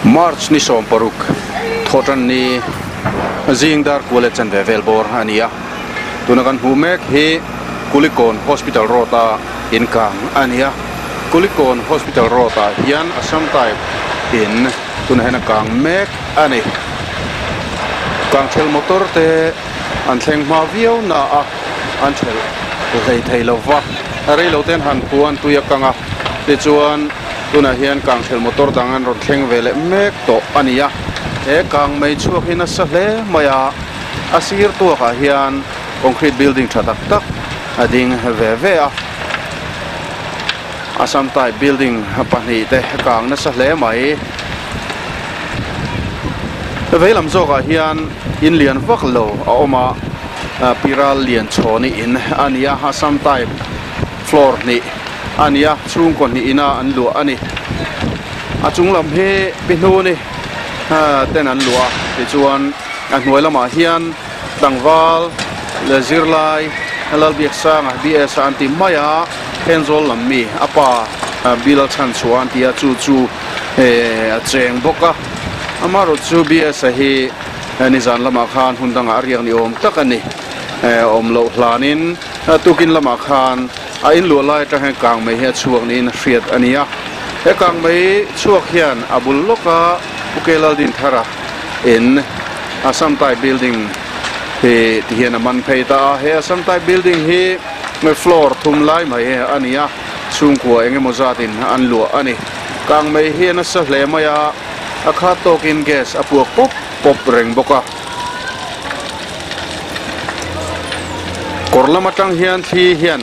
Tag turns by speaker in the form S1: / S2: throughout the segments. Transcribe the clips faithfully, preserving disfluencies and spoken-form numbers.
S1: March ni som paruk thotan ni zingdar kuale chan ve velbor ania tunakan humek hi Kulikon Hospital Rota inkang ania Kulikon Hospital Rota hian Assam type in tunahena kang mek ani kang thel motor te an thleng hma viau na a an thel hlei thei lova reilo ten han puan tuia kanga ti chuan tuna hian kang thel motor dang an rawn thleng vele mek to ania he kang mei chhuak hin a sa hle maia a sir tuakah hian concrete building tha tak tak a ding ve ve a Assam type building pahnih te kang nasa hle mai veilam zawkah hian in lian vak lo a awm a piral lian chhawni in ania Assam type floor hnih ania chhungkaw hnih ina an luah ani a chung lam hi pihnu ni ten an luah tichuan a hnuai lamah hian tlangval le zirlai lalbiak sanga B S an ti mai a Thenzawl lam mi apa bilal chan chuan tia chu chu a cheng bawk a amaro chu B S a hi nizan lamah khan hun dangah a riak ni awm tak ani awm loh hlanin tukin lamah khan a in luah lai atang hian kang mai hi a chhuak niin a hriat ania he kang mai chhuak hian a bul lawka Pukelal din thara in Assam type building hi ti hian a man phei ta a he Assam type building hi floor thum lai mai ania chhungkua engemaw zatin an luah ani kang mai hian a sa hle mai a a kha tawkin gas a puak pawp pawp reng bawk a kawr lam atang hian thli hian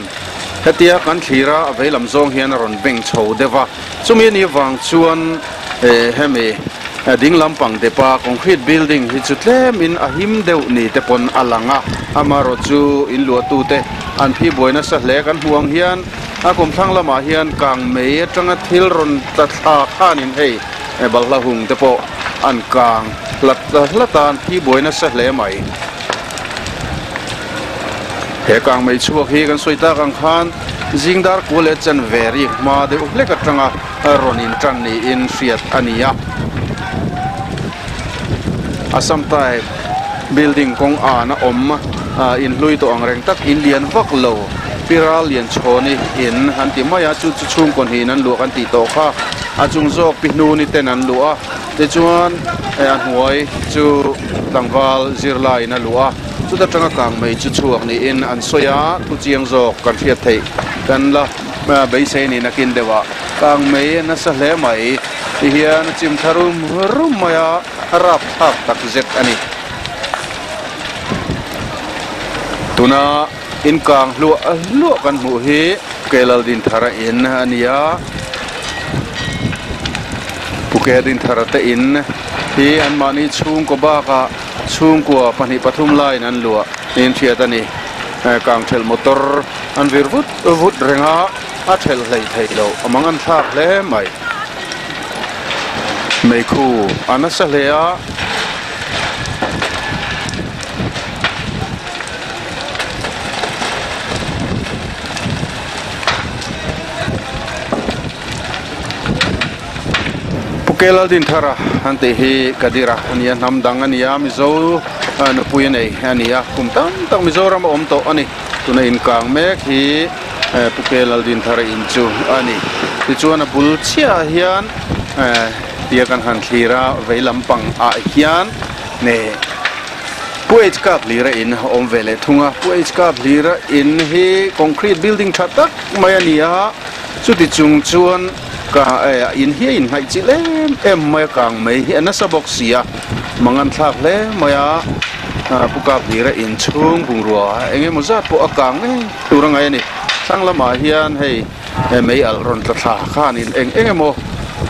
S1: hetia kan thlira a veilam zawng hian a rawn beng chho deuh a chumi ni wang chuan hemi ding lampang depa concrete building hi chu tlem in a him deuh ni te pawn a lang a amaro chu in luah tu te an phi buaina sa hle kan hmuang hian a kumthlang lamah hian kang mei atanga thil rawn tla thla khanin hei balhla hung te pawh an kang hlat hlatan phi buaina sa hle mai he kang mei chhuak hi kan sawi tak ang khan zingdar kuale chan veri hma deuh hlek atanga rawn in tan niin hriat ania Assam type building kawng an a awm in hlui tawh ang reng tak in lian vak lo piral lian chhawni in an ti mai a chu chu chhungkaw hnih an luah kan tih tawh kha a chung zawk pihnu ni ten an luah a tichuan a hnuai chu tlangval zirlai in a luah a chuta tanga kang mai chu chhuak niin an sawi a thu chiang zawk kan hriat theih kan la beisei niin a kin deuh a kang mai nasa hle mai ti hian a chim thla rum rum mai a rap thak tak zet ani tuna in kang hluah hluah kan hmuh hi Pukelal din thara in ania Pukel din thara te in hi an mahni chhungkaw bakah chhungkua pahnih pathum laiin an luah niin hriat ani kang thel motor an vir vut vut renga a thel hlei thei lo amang an thlak hle mai meikhu a nasa hle a Pukelal din thara an tih hi kadira ania hnam dang ania Mizo nupui nei ania kum tam tak Mizoram a awm tawh ani tuna inkang mek hi Pukelal din thara in chu ani tichuan a bul chiah hian tia kan han thlira vei lampang ah hian ne Pu H Kap hlira in awm ve leh thung a Pu H Kap hlira in hi concrete building tha tak mai ania chuti chung chuan ka in hi a inhnaih chi em em mai a kang mai hi a nasa bawk si a mangan thlak hle mai a Pu Kap hlira in chhung bungrua engemaw zat pawh a kang ngei tur a ngai ani thlang lamah hian hei mei alh rawn tla thla khanin eng eng emaw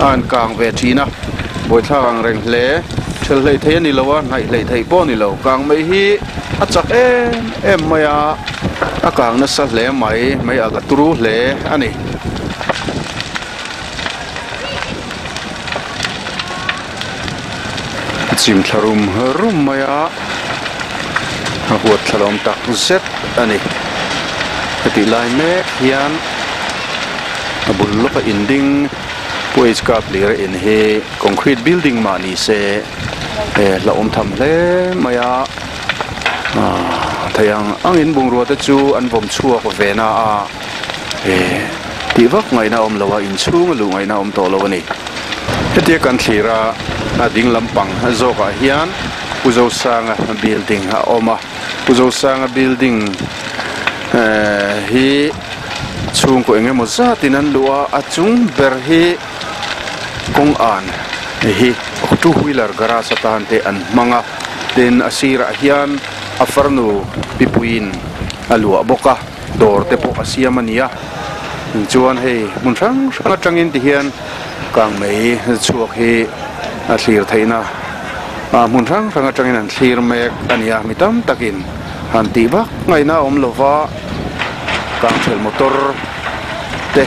S1: an kang ve thin a buaithlak ang reng hle thel hlei thei ani lo a hnaih hlei thei pawh ani lo kang mai hi a chak em em mai a a kang nasa hle mai mei alh a turu hle ani chim thla rum rum mai a a huat thla lawm tak zet ani heti lai mek hian a bul lawka in ding Pu H Kaphleia in hi concrete building mah ni se la awm tham hle mai a thei ang angin bungrua te chu an vawm chhuak ve na a tih vak ngaihna awm lo a inchhung a luh ngaihna awm tawh lo a ni. Hetia kan thlir a a ding lampang zawkah hian Pu Zosanga building a awm a Pu Zosanga building hi chhungkaw eng emaw zatin an luh a a chung ber hi kawng an hi two wheeler garage atan te an hmang a tin a sirah hian a farnu pipuiin a luah bawk a dawr te pawh a siam a ni a chuan hei hmun hrang hrang atangin ti hian kang mai chhuak hi a thlir theihna a hmun hrang hrang atangin an thlir mek a ni a mi tam takin han tih vak ngaihna awm lova kang thel motor te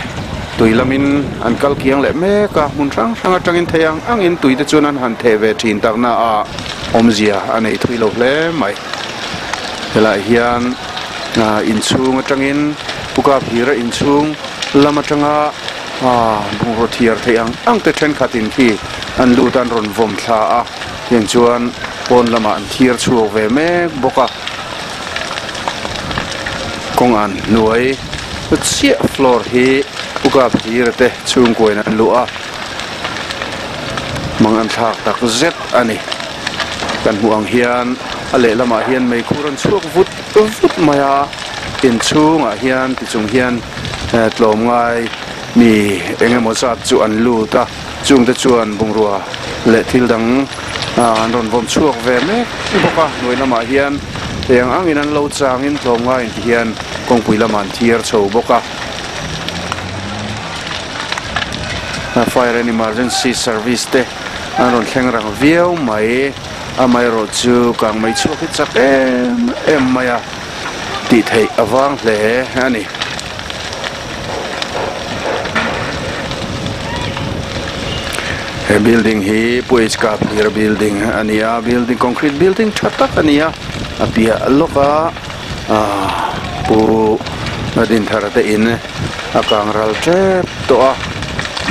S1: tui lamin an kal kiang leh mek a hmun hrang hrang atangin thei ang angin tui te chuan an han theh ve thin takna a awmzia a nei thui lo hle mai. Helaiah hian inchhung atangin Pu Kaphleia inchhung lam atanga bungraw thiar thei ang ang te thenkhatin khi an lut an rawn vawm thla a tiang chuan pawn lamah an thiar chhuak ve mek bawk a kawng an hnuai chiah floor hi Pu Kaphleia te chhungkuain an luh a mang an thlak tak zet a ni. Kan hmuh ang hian a lehlamah hian meikhur an chhuak vut vut mai a inchhungah hian tichung hian tlawm ngai mi eng emaw zat chu an lut a chungte chuan bungrua leh thil dang an rawn vawm chhuak ve mek bawk a hnuai lamah hian eng angin an lo changin tlawm ngaiin ti hian kawngpui lamah an thiar chho bawk a. Fire and Emergency Service te an rawn thleng rang viau mai amaherawh chu kang mai chhuak hi chak em em mai a tih theih awang hle a ni. He building hi Pu H Kaphleia building a ni a building concrete building tha tak a ni a a piah lawka Pu Dinthara te in a kang ral tep tawh a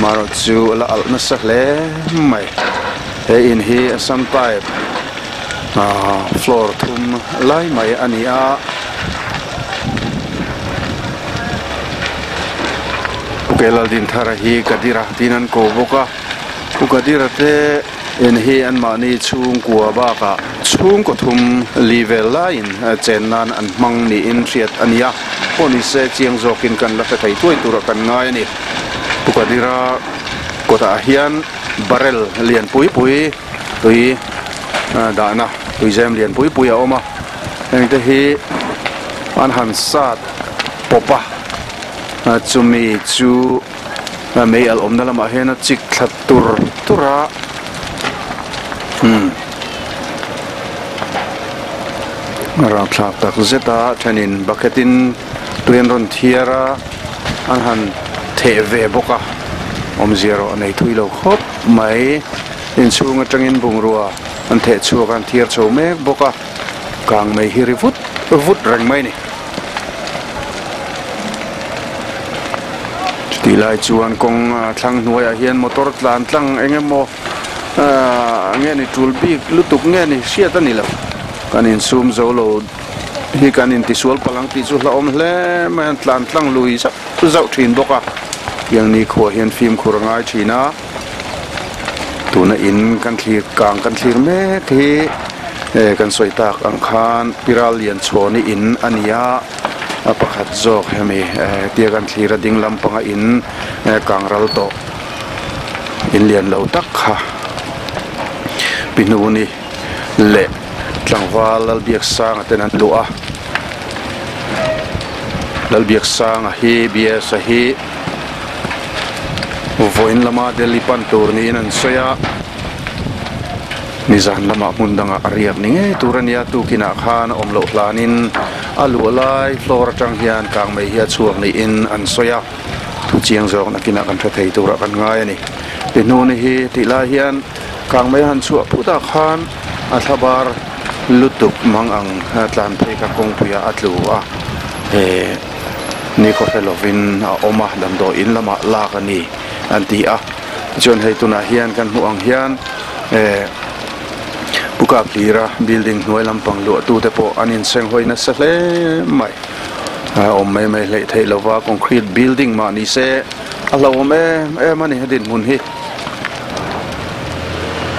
S1: marawh chu la alh nasa hle mai. He in hi Assam type floor thum lai mai a ni a Pu Kelal Dinthara hi Kadira tin an ko bawk a Pu Kadira te in hi an mahni chhungkua bakah chhungkaw thum li vel laiin chen nan an hmang niin hriat a ni a pawh ni se chiang zawkin kan la hre thei tuai turah kan ngai a ni. Pu Kadira kawtah hian barrel lian pui pui tui dahna tui zem lian pui pui a awm a hengte hi an han sat pawp a chumi chu mei al awmna lamah hian a chik thla tur tur a hmm ram thlak tak zet a thenin bucket in tui an rawn thiar a an han theh ve bawk a awmzia erawh a nei thui lo khawp mai inchhung atangin bungrua an theh chhuak an thiar chho mek bawk a kang mai hi ri vut vut reng mai ni. Chutih lai chuan kawng thlang hnuaiah hian motor tlan tlang eng emaw nge ni tul bik lutuk nge ni hriat a ni lo kan insum zo lo hi kan intisual palang tih chu hla awm hle mai an tlan tlang lui zauh zauh thin bawk a tiang ni khuah hian fimkhur a ngai thin a tuna in kan thlir kang kan thlir mek hi kan sawi tak ang khan Piral Lianchhawni in a ni a a pakhat zawk hemi tia kan thlir a ding lampanga in kang ral tawh in lian lo tak kha Pihnuni leh tlangval Lalbiaksanga ten an luh a Lalbiaksanga hi B S a hi vawiin lama Delhi pan tur niin an sawi a nizan lamah hmun dangah a riak ni ngei tur a nia tukinah khan a awm loh hlanin a luh lai floor atang hian kang mai hi a chhuak niin an sawi a thu chiang zawk nakinah kan hre thei turah kan ngai a ni. Pihnuni hi tih lai hian kang mai han chhuah phutah khan a thlabar lutuk mang ang tlan phei kha kawngpuiah a tlu a ni khaw hre lovin a awm a damdawi in lamah lak a ni an ti a Chuan hei tunah hian kan hmuh ang hian eh Puka hlira building hnuai lampang luah tu te pawh an inseng hawi nasa hle mai. Awm mai mai hleih theih lova concrete building mah ni se a hlauhawm em em a ni a dinhmun hi.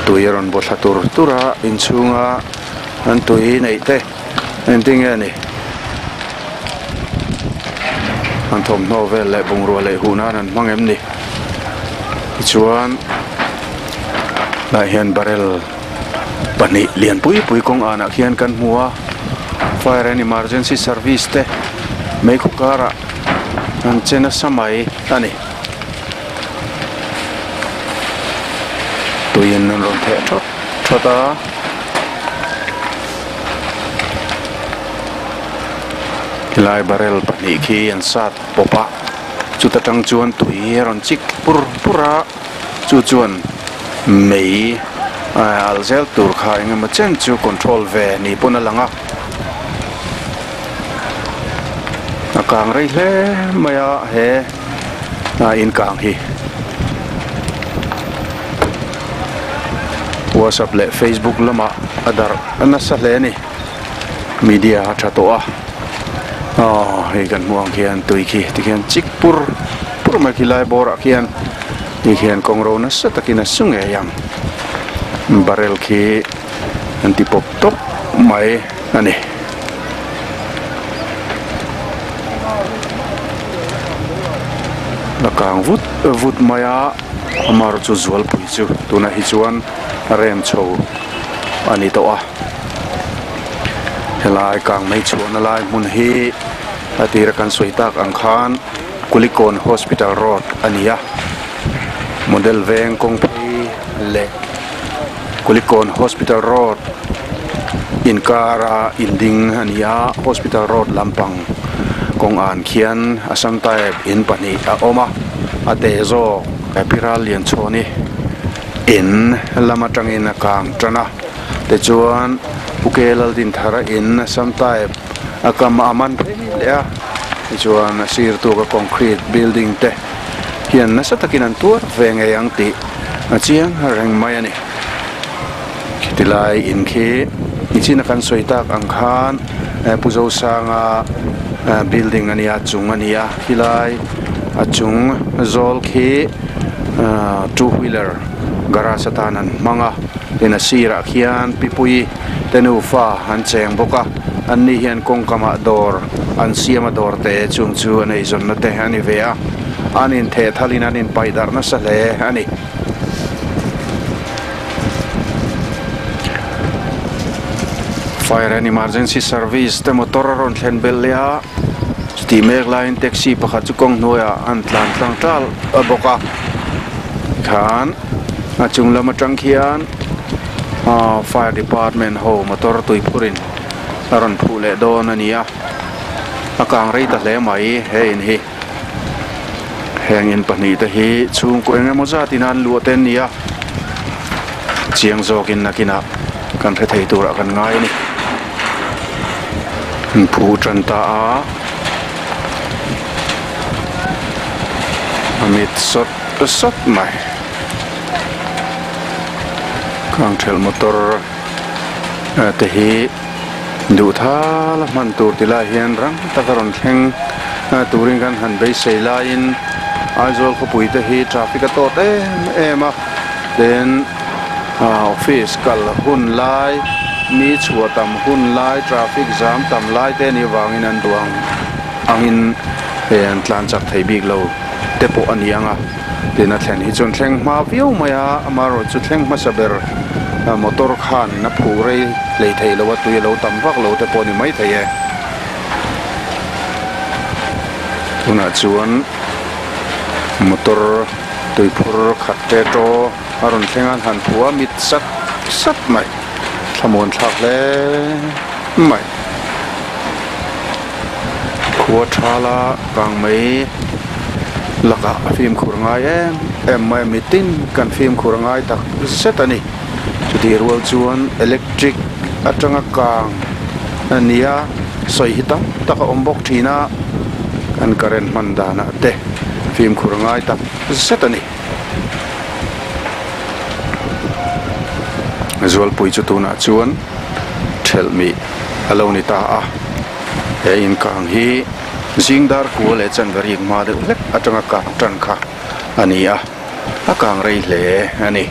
S1: Tui a rawn bawthla tur tur a inchhunga an tui neih te engtin nge ni. An thawmhnaw vel leh bungrua leh hun an an hmang em ni. Tichuan lah hian barrel pahnih lian pui pui kawng anah khian kan hmu a, fire and emergency service te meikhu karah an che nasa mai a ni. Tuiin an rawn theh thawt thawt a. Helai barrel pahnih khi an sat pawp a, chuta tang chuan tui a rawn chik pur pur a, chu chuan mei al zel tur kha engemaw chen chu control ve ni pawn a lang a. A kang rei hle mai a he in kang hi. WhatsApp leh Facebook lamah a darh nasa hle a ni. Media a tha tawh a. Aw hei kan hmuh ang khian tui khi tikhian chik pur pur mai khi lai bawrah khian ti khian kawng ro nasa takin a su ngei ang. Barrel khi an ti pawp tawp mai a ni. La kang vut vut mai a, amar chu zualpui chu tunah hi chuan a rem chho a ni tawh a. Helai kang mai chhuahna lai hmun hi a tira kan sawi tak ang khan Kulikawn Hospital Road a ni a. Model veng kawng phei leh Kulikawn Hospital Road inkara inding a ni a, Hospital Road lampang kawng an khian Assam type in pahnih a awm a, a te zawk Piral Lianchhawni in lam atangin a kang tan a, tichuan Puke Laldinthara in Assam type a kam a man phei leh a, tichuan a sir tuka concrete building te hian nasa takin an tuar ve ngei ang tih a chiang reng mai a ni. Khiti lai in khi nichina kan sawi tak ang khan Pu Zosanga building a ni a, chung a ni a, khilai a chung zawl khi two wheeler garage atan an hmang a, tin a sirah khian pipui te nufa an cheng bawk a, an ni hian kawngkamah dawr an siam a dawr te chung chu an eizawnna te a ni ve a, an intheh thalin an inpaih darh nasa hle a ni. Fire and Emergency Service te motor a rawn thlen belh leh a, chutih mek laiin taxi pakhat chu kawng hnuaiah an tlan tlang tal bawk a, tikhan a chung lam atang khian Fire Department ho motor tui phurin a rawn phuh leh dawn a ni a, a kang rei ta hle mai he in hi. Heng in pahnih te hi chhungkaw eng emaw zatin an luah te an ni a, chiang zawkin nakinah kan hre thei turah kan ngai a ni. An phu tan ta a, a mit sawt sawt mai. Kang thelh motor te hi duh thal a hman tur ti lai hian rang taka rawn thleng turin kan han beisei laiin Aizawl khawpui te hi traffic a tawt em em a, then office kal hun lai, mi chhuah tam hun lai, traffic jam tam lai te ni wangin an duang angin hei an tlan chak thei bik lo te pawh a ni ang a, tin a thlen hi chuan thleng hma viau mai a, amaherawh chu thleng hmasa ber motor khanin a phuh rei hlei thei lo a, tui a lo tam vak lo te pawh a ni mai thei e. Tunah chuan motor tui phur khat te to a rawn thleng a, an han phuh a, mit sat sat mai, thlamuan thlak hle mai. Khua thala kang mai lakah a fimkhur ngai em em mai a, mitin kan fimkhur ngai tak zet a ni. Chutih rual chuan electric atanga kang a ni a, sawi hi tam tak a awm bawk thin a, kan current hman danah te fimkhur ngai tak zet a ni. Zualpui chu tunah chuan thelh mih a lo ni ta a he in kang hi zing dar kua leh chanve rik hma deuh hlek atanga kang tan kha a ni a a kang rei hle a ni.